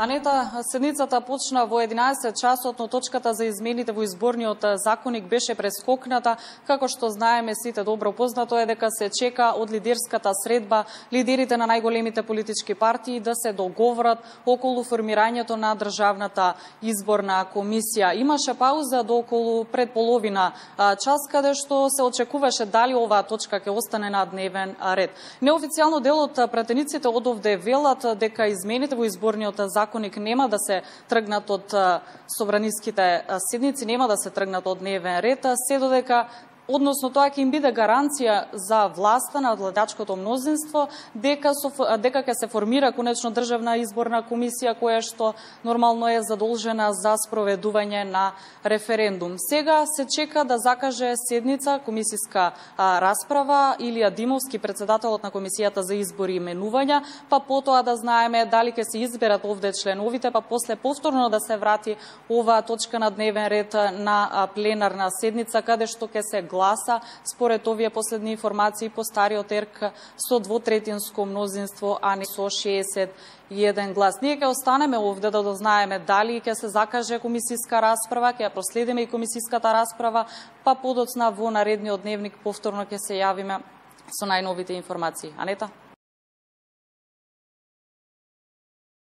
Анета, седницата почна во 11 часот, но точката за измените во изборниот законник беше прескокната. Како што знаеме сите добро познато е дека се чека од лидерската средба лидерите на најголемите политички партии да се договорат околу формирањето на државната изборна комисија. Имаше пауза до околу пред половина час, каде што се очекуваше дали оваа точка ќе остане на дневен ред. Неофицијално дел од пратениците од овде велат дека измените во изборниот законник нема да се тргнат од собраниските седници, нема да се тргнат од дневен ред, се додека односно тоа ќе им биде гаранција за власта на владачкото мнозинство дека ќе се формира конечно државна изборна комисија која што нормално е задолжена за спроведување на референдум. Сега се чека да закаже седница комисиска расправа Илија Димовски, председателот на комисијата за избори и именувања, па потоа да знаеме дали ќе се изберат овде членовите, па после повторно да се врати оваа точка на дневен ред на пленарна седница каде што ќе се гласа според овие последни информации по стариот ЕРК со двотретинско мнозинство, а не со 61 глас. Ние ќе останеме овде да дознаеме дали ќе се закаже комисиска расправа, ќе ја проследиме и комисиската расправа, па подоцна во наредниот дневник повторно ќе се јавиме со најновите информации. Анета?